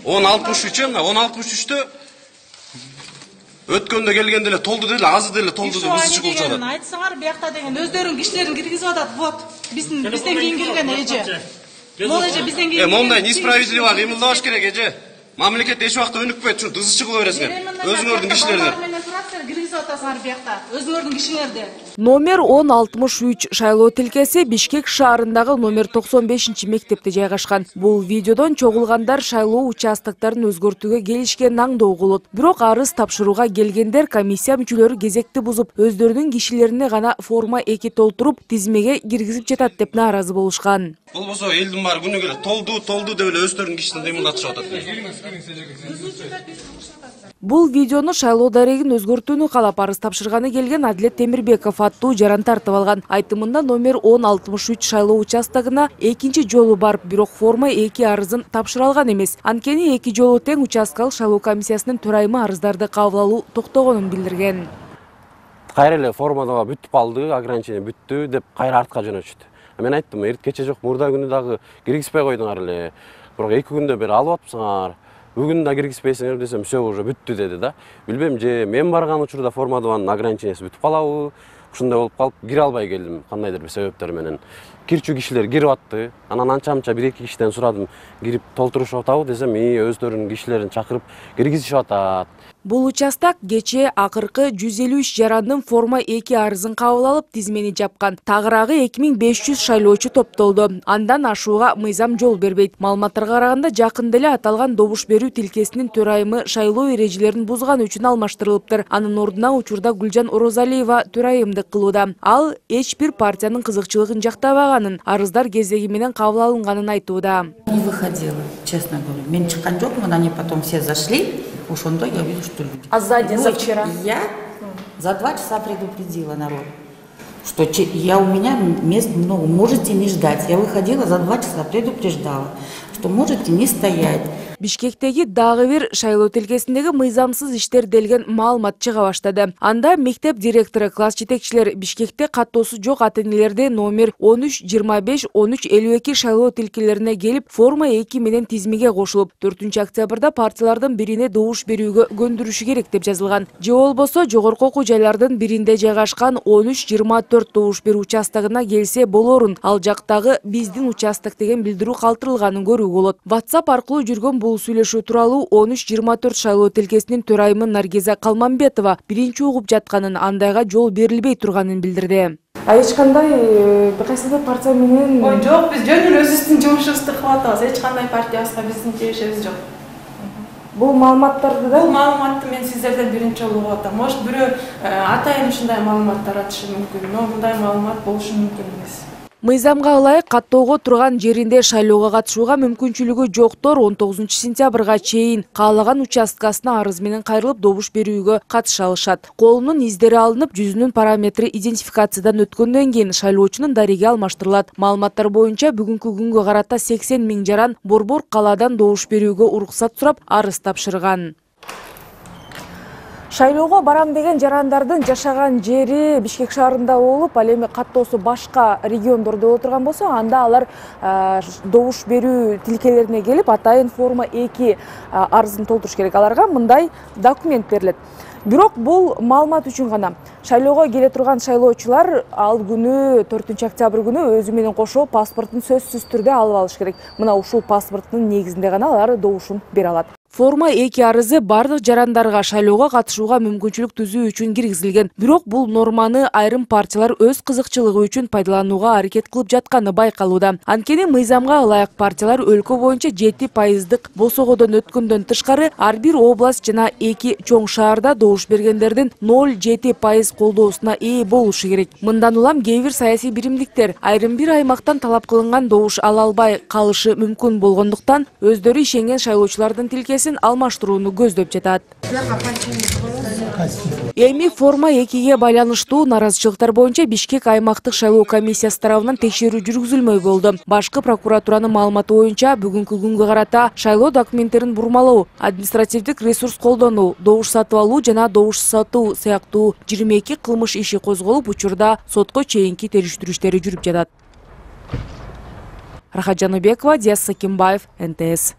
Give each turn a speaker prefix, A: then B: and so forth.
A: 10.63 мына 10.63-тө өткөндө келгенде эле толду деле, азы деле толду деп ысы чыгып жатат.
B: Айтсаңар, биякта деген өздөрүнүн кишилерин киргизип атат. Вот, бизден кийин кирген эже. Могу эже бизден кийин.
A: Мондай несправедливо кыймылдабаш керек эже. Мамлекет эч убакта өнүкпөйт, ушунтип ысы чыгыла бересиңер. Өзүңөрдүн кишилериңер.
B: Өзүңөрдүн кишиңерде.
C: Номер 1063 шайлоо тилкеси Бишкек шаарындагы номер 95-мектепте жайгашкан. Бул видеодон чогулгандар шайлоо участоктарын өзгөртүүгө келишкен аңдоо болот. Бирок арыз тапшырууга келгендер комиссия мүчөлөрү кезекти бузуп, өздөрүнүн кишилерине гана форма 2 толтуруп, тизмеге киргизип жатат деп нааразы болушкан.
A: Болбосо элдин баары күнү келет толду деп эле өздөрүнүн кишисин кыймылдатышып атат.
C: Бул видеону шайлоо дарегин өзгөртүүнү каалап арыз тапшырганы келген Адилет Темирбеков аттуу жаран тартып алган. Айтымында номер 1063 шайлоо участогуна экинчи жолу барып, бирок форма 2 арызын тапшыра алган эмес. Анткени эки жолу тең участкалык шайлоо комиссиясынын төрайымы арыздарды кабыл алуу токтогонун билдирген.
D: Кайра эле формада бүтүп калды, ограничение бүттү деп кайра артка жөнөтүштү. Мен айттым, эрт кече жок, мурда күнү дагы киргизбей койдуңар эле. Бирок 2 күндө бери алып атпсыңар. Бүгүн да киргизбейсиңер десем, все уже бүттү деди да. Билбейм, же мен барган учурда формадын ограничениясы бүтүп калабы, ушундай болуп калып кире албай келдим, кандайдыр бир себептер менен. Кирчү кишилер кирип атты. Анан анча-мынча 1-2 кишиден сурадым, кирип толтурушуп атабы десем, өздөрүнүн кишилерин чакырып киргизишип атат.
C: Бул участок кечээ акыркы 153 жарандын форма 2 арызын кабыл алып, тизмени жапкан. Тагыраагы 2500 шайлоочу топтолду. Андан ашууга мыйзам жол бербейт. Маалыматтарга караганда, жакында эле аталган добуш берүү тилкесинин төрайымы шайлоо эрежелерин бузганы үчүн алмаштырылыптыр. Анын ордуна учурда Гүлжан Орозалиева төрайымдык кылууда. Ал эч бир партиянын кызыкчылыгын жактабаганын, арыздар кезеги менен кабыл алынганын айтууда.
E: Не выходила, честно говоря. Мен чыккан жокмун, они потом все зашли. Ошондо я вижу, что люди.
C: А за день, за вчера?
E: Я за 2 часа предупредила народ, что у меня мест много, можете не ждать. Я выходила за 2 часа, предупреждала, что можете не стоять.
C: Бишкектеги дагы бир шайлоо тилкесиндеги мыйзамсыз иштер делген маалымат чыга баштады. Анда мектеп директору, класс жетекчилер Бишкекте каттоосу жок ата-энелерди номер 13-25-13-52 шайлоо тилкелерине келип, форма 2 менен тизмеге кошулуп, 4-октябрда партиялардын бирине добуш берүүгө көндүрүшү керек деп жазылган. Же болбосо жогорку окуу жайлардын биринде жайгашкан 13-24 добуш берүү участогуна келсе болорун. Ал жактагы биздин участок деген билдирүү калтырылганын көрүүгө болот. WhatsApp аркылуу жүргөн бул сүйлөшүү тууралуу 13-24 шайлоо тилкесинин төрайымы Наргиза Калмамбетова биринчи угуп жатканын, андайга жол берилбей турганын билдирди.
F: Эч кандай кайсы бир партия менен
B: жок, биз жөн эле өзүбүздүн жумушубузду кылып атабыз. Эч кандай партиябызга биздин тиешебиз жок.
F: Бул маалыматтарды да?
B: Бул маалыматты мен сиздерден биринчи жолу угуп атам. Может, бирөө атайын ушундай маалымат таратышы мүмкүн, но мындай маалымат болушу мүмкүн эмес.
C: Мыйзамга ылайык каттоого турган жеринде шайлоого катышууга мүмкүнчүлүгү жоктор 19-сентябрга чейин каалаган участкасына арыз менен кайрылып добуш берүүгө катыша алышат. Колунун издери алынып, жүзүнүн параметри идентификациядан өткөндөн кийин шайлоочунун дареги алмаштырылат. Маалыматтар боюнча бүгүнкү күнгө карата 80 000 жаран Борбор калаадан добуш берүүгө уруксат сурап арыз тапшырган. Шайлоого барам деген жарандардын жашаган жери Бишкек шаарында болуп, ал эми каттоосу башка региондордо боло турган болсо, анда алар добуш берүү тилкелерине келип, атайын форма 2 арызын толтуруш керек. Аларга мындай документ берилет. Бирок бул маалымат үчүн гана. Шайлоого келе турган шайлоочулар ал күнү 4-октябрь күнү өзү менен кошо паспортун сөзсүз түрдө алып алыш керек. Мына ушул паспорттун негизинде гана алар добушун бере алат. Форма 2 арызы бардык жарандарга шайлоого катышууга мүмкүнчүлүк түзүү үчүн киргизилген. Бирок бул норманы айрым партиялар өз кызыкчылыгы үчүн пайдаланууга аракет кылып жатканы байкалууда. Анткени мыйзамга ылайык партиялар өлкө боюнча 7% босогодон өткөндөн тышкары ар бир область жана 2 чоң шаарда добуш бергендердин 0,7% колдоосуна ээ болушу керек. Мындан улам кээ бир саясий биримдиктер айрым бир аймактан талап кылынган добуш ала албай калышы мүмкүн болгондуктан өздөрү ишенген шайлоочулардын тилкесин алмаштырууну көздөп жатат. Эми форма 2ге байланыштуу наразычылыктар боюнча Бишкек аймактык шайлоо комиссиясы тарабынан текшерүү жүргүзүлмөй болду. Башкы прокуратуранын маалыматы боюнча бүгүнкү күнгө карата шайлоо документтерин бурмалоо, административдик ресурс колдонуу, добуш сатып алуу жана добуш сатуу сыяктуу 22 кылмыш иши козголуп, учурда сотко чейинки териштирүү иштери жүрүп жатат. Рахат Жаныбекова, Диас Сакимбаев, НТС.